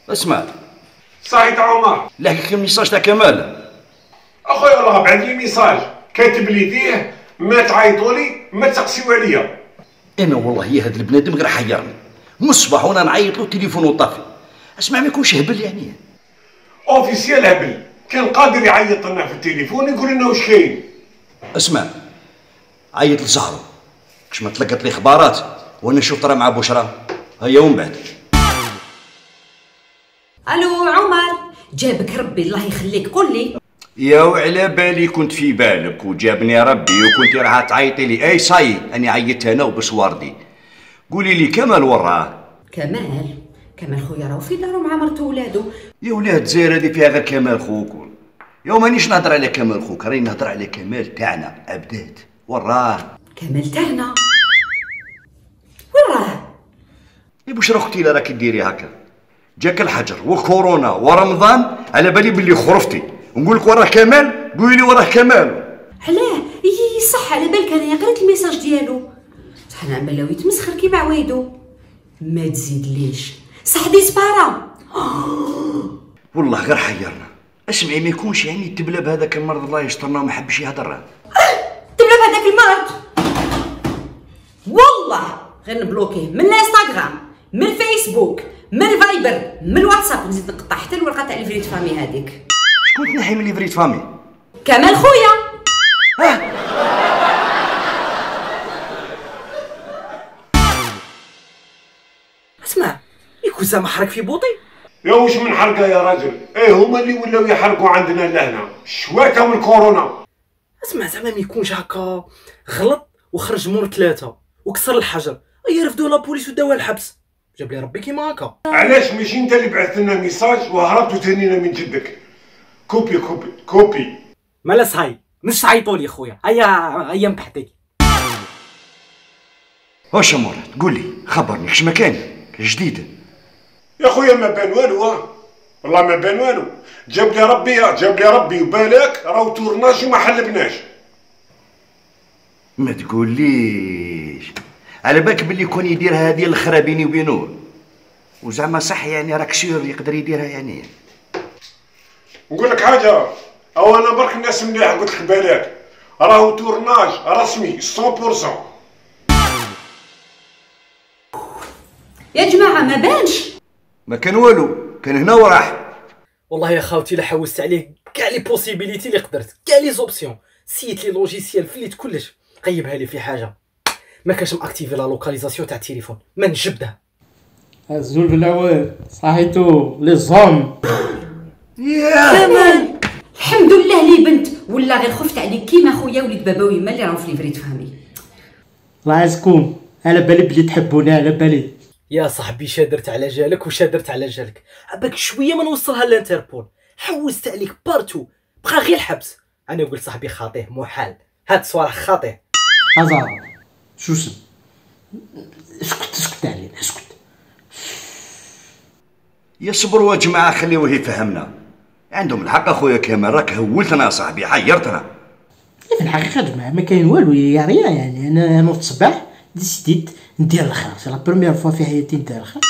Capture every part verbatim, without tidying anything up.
اسمع. صحيح تاع عمر. لحقك الميساج تاع كمال. اخويا الله بعث لي ميساج كاتب لي فيه ما تعيطوا لي ما تسقسيو عليا. انا والله يا هذا البنادم غير حيرني من الصباح وانا نعيط له التليفون طافي. اسمع ما يكونش هبل يعني. اوفيسيال هبل كان قادر يعيط لنا في التليفون يقول لنا واش كاين. اسمع عيط لزهرو كش ما تلقت لي خبارات وانا نشوف ترى مع بشرى هيا ومن بعد. الو عمر جابك ربي الله يخليك قول لي. يا وعلى بالي كنت في بالك وجابني ربي وكنت راح تعيطي لي. اي صاي اني عيطت انا وبسواردي. قولي لي كمال وراه؟ كمال كمال خويا راهو في دارو مع مرتو وولادو. يا ولاد زير هذه فيها غير كمال خوك. يوم مانيش نهضر على كمال خوك راني نهضر على كمال تاعنا عبدات. وراه كمال تاعنا وراه؟ يا بشرى اختي لا راكي ديري هكا جاك الحجر وكورونا ورمضان على بالي بلي خرفتي ونقول لك وراه كمال قولي لي وراه كمال. علاه يي صح على بالك انا قريت الميساج ديالو صح نعمل له يتمسخر كيما عوايدو. ما تزيدليش صح ديسبارا. والله غير حيرنا. اسمعي ما يكونش يعني تبلى بهذاك المرض الله يسترنا وما حبش يهضر. تبلى بهذاك المرض والله غير نبلوكيه من الانستغرام من الفيسبوك من الفايبر من الواتساب نزيد نقطع حتى الورقه تاع الفريت فامي هذيك. شكون تنحي من الفريت فامي؟ كمال خويا. اه اسمع يكون زعما حرك في بوطي. يا واش من حرقه يا راجل. ايه هما اللي ولاو يحرقوا عندنا لهنا شواته من كورونا. اسمع زعما ما يكونش هكا غلط وخرج مور ثلاثه وكسر الحجر اي رفدوا لابوليس وداوه الحبس. جاب لي ربي كيما هكا. علاش ماشي انت اللي بعثت لنا ميساج وهربتوا تانينا من جدك؟ كوبي كوبي كوبي. مالا صاي مش تعيطوا لي خويا هيا هيا بحدي. واش مراد قول لي خبرني كش مكان جديد. يا خويا ما بان والو. ها والله ما بان والو. جاب لي ربي جاب لي ربي وبالك راهو تورناج وما حلبناش. ما تقوليش على بالك باللي كون يديرها هذه الخرا بيني وبينه وزعما صح يعني راك سير يقدر يديرها يعني. نقول لك حاجه او انا برك الناس مليح قلت لك بالك راهو تورناج رسمي مية بالمية. يا جماعه ما بانش. ما كان والو كان هنا وراح. والله يا خاوتي لا حوست عليه كاع لي بوسيبيليتي اللي قدرت كاع لي زوبسيون سيت لي لوجيسيال فليت كلش غيبها لي في حاجه ما كانش ماكتيفي لا لوكاليزاسيون تاع التليفون ما نجبدها. الزول بالاول صحيتو لي زوم. يا كمال الحمد لله لي بنت ولا غير خفت عليك كيما خويا وليد بابا ويما اللي راهو في ليفريت فامي. الله يعزكم على بالي بلي تحبوني على بالي. يا صاحبي شادرت على جالك وشادرت على جالك عباك شويه ما نوصلها للانتربول حوست عليك بارتو بقى غير الحبس. انا قلت صاحبي خاطيه محال هاد الصوالح خاطيه. ازار شو اسم اسكت اسكت علينا اسكت. يصبروا يا جماعه خليوه يفهمنا. عندهم الحق اخويا كمال راك هولتنا صاحبي حيرتنا. في الحقيقه جماعه ما كاين والو يا ريا يعني انا نوض الصباح ديسيديت ندير الخير سي لا بروميير فوا في حياتي ندير الخير.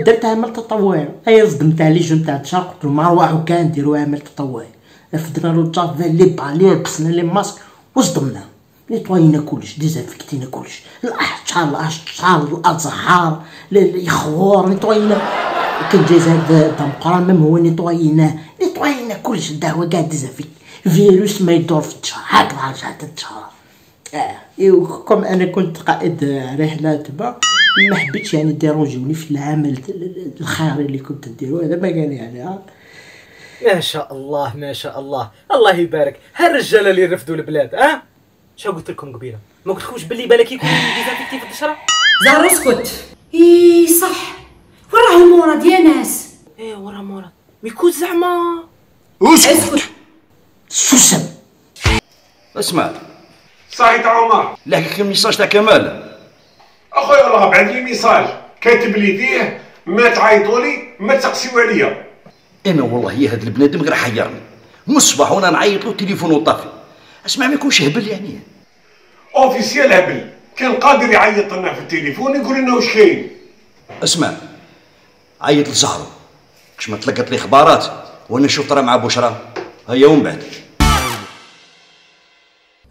درت عمل تطوعي اي صدمت على لي جون تاع الشهر قلت لهم نروحو كان نديرو عمل تطوعي. رفدنا له الجافا لي بالي لبسنا لي ماسك وصدمنا نيطوينا كلش ديزانفيكتينا كلش الاشجار الاشجار الازهار الخضور نيطوينا كان جاي زاد دمقران ميم هو نيطويناه نيطوينا كلش الدهوه كاع ديزانفيكت فيروس ما يدور في الشهر هكذا رجعت الشهر. اه ايوا كوم انا كنت قائد رحله تبع ما حبيتش يعني ديرونجوني في العمل الخيري اللي كنت نديرو هذا ما قال يعني. ها ما شاء الله ما شاء الله الله يبارك هالرجاله اللي رفدوا البلاد. اه شنو قلت لكم قبيله ما قلت لكمش باللي بالك يكون ديزانفيكتي في الدشره. زهر اسكت. اي صح وين راهو مراد يا ناس. ايه ورا مراد ويكون زعما اسكت. سوسن اسمع صحيح تاع عمر. لحقك الميساج تاع كمال. اخويا الله بعث لي ميساج كاتب لي فيه ما تعيطوا لي ما تسقسيو عليا. انا والله يا هذا البنادم غير حيرني من الصباح وانا نعيط له التليفون طافي. اسمع ما يكونش هبل يعني. اوفيسيال هبل كان قادر يعيط لنا في التليفون يقول لنا واش كاين. اسمع عيط لزهرو كش ما تلقت لي خبارات وانا نشوف راه مع بشرى هيا ومن بعد.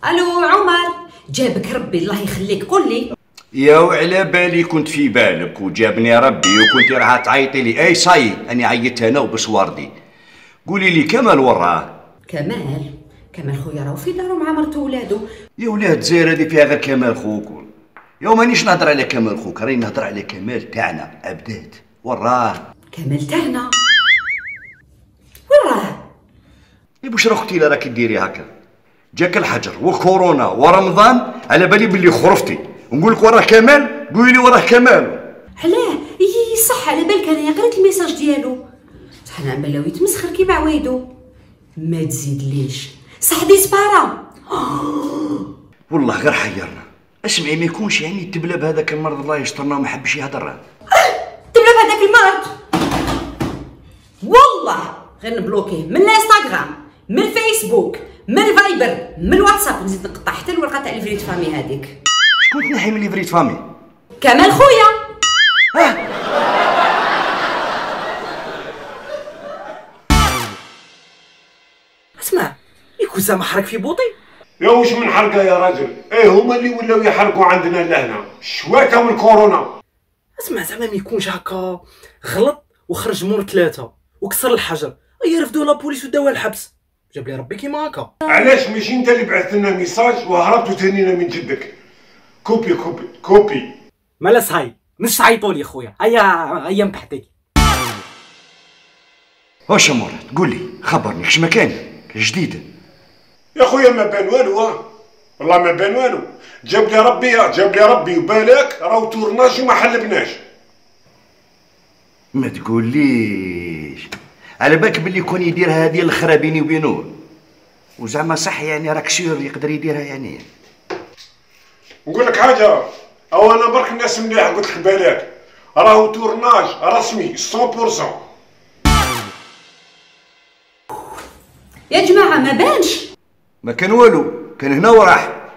الو عمر، جابك ربي الله يخليك، قول لي. يا وعلى بالي كنت في بالك وجابني ربي وكنت راح تعيطي لي. اي صاي اني عيطت انا وبسواردي. قولي لي كمال وراه؟ كمال كمال خويا راهو في دارو مع مرتو ولادو. يا ولاد الجزائر هذه فيها غير كمال خوك. يا مانيش نهضر على كمال خوك، راني نهضر على كمال تاعنا عبدات. وراه كمال تاعنا وين راه؟ يا بشرى اختي لا راكي ديري هكا، جاك الحجر وكورونا ورمضان على بالي بلي خرفتي، ونقول لك وراه كمال قولي لي وراه كمال. علاه؟ اي صح، على بالك انا قريت الميساج ديالو، صح انا عماله يتمسخر كيما عوايدو. ما تزيدليش صح ديسبارا. والله غير حيرنا. اسمعي ما يكونش يعني التبلب هذاك المرض الله يسترنا وما حبش يهضر. تبلب هذاك المرض والله غير نبلوكيه من الانستغرام، من الفيسبوك، من الفايبر، من الواتساب، نزيد نقطع حتى الورقه تاع الفريد فامي هذيك. شكون تنحي من الفريد فامي؟ كمال خويا. اه اسمع، يكون زعما حرك في بوطي. يا واش من حرقه يا راجل؟ ايه هما اللي ولاو يحرقوا عندنا لهنا شواكه من كورونا. اسمع زعما ما يكونش هكا غلط وخرج مور ثلاثه وكسر الحجر، اي رفدوا لابوليس وداوها الحبس. جاب لي ربي كيما هكا. علاش ماشي انت اللي بعثت لنا ميساج وهربتوا تانينا من جدك؟ كوبي كوبي كوبي. مالا صاي مش تعيطوا لي خويا، هيا هيا نبحثك. واش مراد قول لي خبرني كش مكان جديد. يا خويا ما بان والو، ها والله ما بان والو. جاب لي ربي جاب لي ربي وبالك راهو تورناج وما حلبناش. ما تقوليش على بالك باللي كون يديرها هذه الاخرى بيني وبينه، وزعما صح يعني راك سير يقدر يديرها يعني. نقول لك حاجه، او انا برك الناس مليح قلت لك بالك راهو تورناج رسمي مية بالمية. يا جماعه ما بانش. ما كان والو، كان هنا وراح.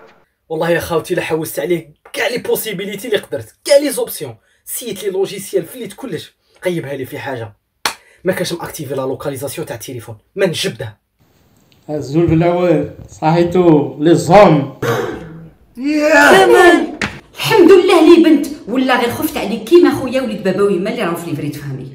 والله يا خاوتي لا حوست عليه كاع لي بوسيبيليتي اللي قدرت، كاع لي زوبسيون، سيت لي لوجيسيال فليت كلش، قيبها لي في حاجه ما كانش ماكتيفي لا لوكاليزاسيون تاع التليفون، ما نجبدها. الزول بالاول صحيتو لي زوم. يا كمال الحمد لله لي بنت، ولا غير خفت عليك كيما خويا وليد بابا ويما اللي راهو في ليفريت فهمي.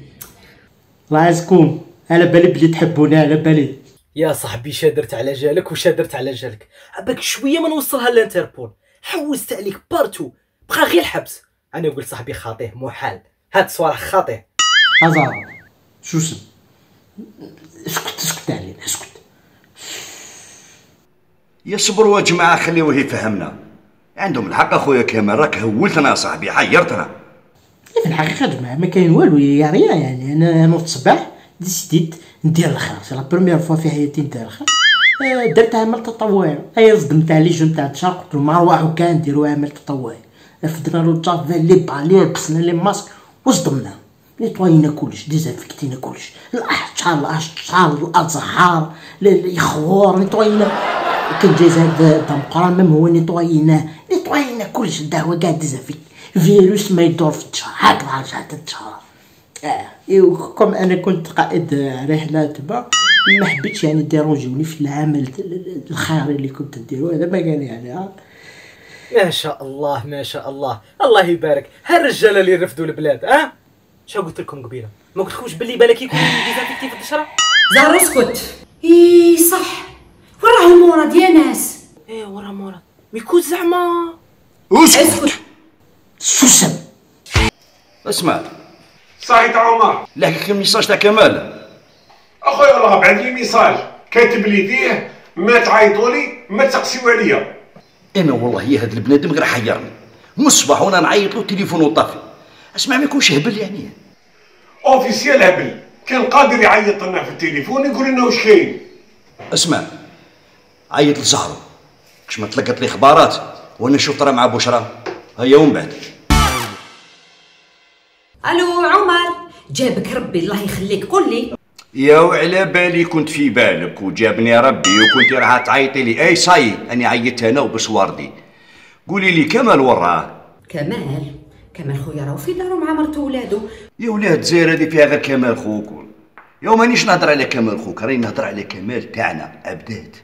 الله يعزكم، على بالي بلي تحبوني، على بالي. يا صاحبي شادرت على جالك وشادرت على جالك، عباك شويه ما نوصلها للانتربول، حوست عليك بارتو، بقى غير الحبس. انا قلت صاحبي خاطيه محال، هاد الصوالح خاطيه. هزار شو اسم؟ اسكت اسكت علينا اسكت. يصبروا يا جماعه خليوه يفهمنا. عندهم الحق اخويا كمال، راك هولتنا صاحبي حيرتنا. في الحقيقه جماعه ما كاين والو يا ريا، يعني انا نوض الصباح ديسيديت ندير الخير، سي لا بروميير فوا في حياتي ندير الخير. أه درت عمل تطوعي، ايا صدمت على لي جون تاع الشهر، قلت لهم نروحو كاع نديرو عمل تطوعي. رفدنا له الجافا لي بالي، لبسنا لي ماسك وصدمنا، نيطواينا كلش، ديزانفيكتينا كلش، الاشجار الاشجار الازهار الخضور نيطواينا. كان جاي زاد دمقران ميم هو نيطوايناه نيطواينا كلش، الدهوه كاع ديزانفيكت، فيروس ما يدور في الشهر هكذا رجعت الشهر. اه ايوا كوم انا كنت قائد رحله تبع، ما حبيتش يعني ديرونجوني في العمل الخيري اللي كنت نديرو، هذا ما قال يعني. ها ما شاء الله ما شاء الله، الله يبارك هالرجاله اللي رفدوا البلاد. اه شنو قلت لكم قبيله؟ ما قلت لكمش باللي بالك يكون ديزانفيكتي في الدشره؟ زهر اسكت. اي صح، وين راه المورد يا ناس؟ ايه ورا مراد ويكون زعما. اسكت. سوسن اسمع صحيت عمر. لحقك الميساج تاع كمال. اخويا والله بعد لي ميساج كاتب لي فيه ما تعيطوا لي ما تسقسيو عليا. انا والله يا هذا البنادم غير حيرني، من الصباح وانا نعيط له التليفون طافي. اسمع ما يكونش هبل يعني. اوفيسيال هبل، كان قادر يعيط لنا في التليفون يقول لنا واش كاين. اسمع عيط لزهرو، كش ما تلقت لي خبارات وانا نشوف راه مع بشرى هيا ومن بعد. الو عمر، جابك ربي الله يخليك، قول لي. يا وعلى بالي كنت في بالك وجابني ربي وكنت راح تعيطي لي. اي صاي اني عيطت انا وبسواردي. قولي لي كمال وراه؟ كمال كمال خويا راهو في دارو مع مرتو ولادو. يا ولاد الجزائر هذه فيها غير كمال خوك. يا مانيش نهضر على كمال خوك، راني نهضر على كمال تاعنا عبدات.